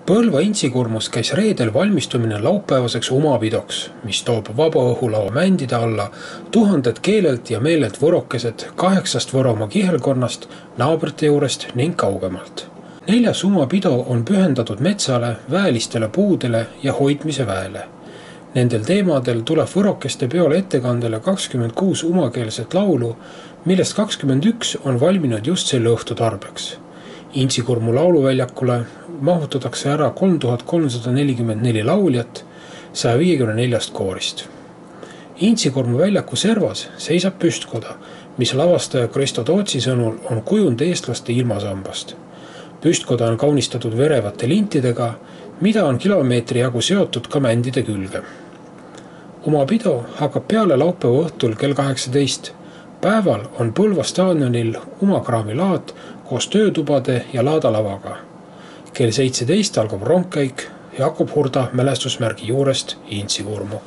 Põlva Intsikurmus käis reedel valmistumine laupäevaseks umapidoks, mis toob vabaõhulao mändide alla tuhanded keelelt ja meelelt võrokesed 8 Võromaa kihelkonnast, naabrite juurest ning kaugemalt. 4. umapido on pühendatud metsale, väelistele puudele ja hoidmise väele. Nendel teemadel tuleb võrokeste peole ettekandele 26 umakeelset laulu, millest 21 on valminud just selle õhtu tarbeks. Intsikurmu lauluväljakule mahutatakse ära 3344 lauljat 154 koorist. Intsikurmu väljaku servas seisab püstkoda, mis lavastaja Kristo Tootsi sõnul on kujund eestlaste ilmasambast. Püstkoda on kaunistatud verevate lintidega, mida on kilomeetri jagu seotud ka mändide külge. Umapido hakkab peale laupäeva õhtul kell 18. Päeval on Põlva staadionil umakraami laat koos töötubade ja laadalavaga. Kell 17 algab rongkäik Jakob Hurda mälestusmärgi juurest Intsikurmu.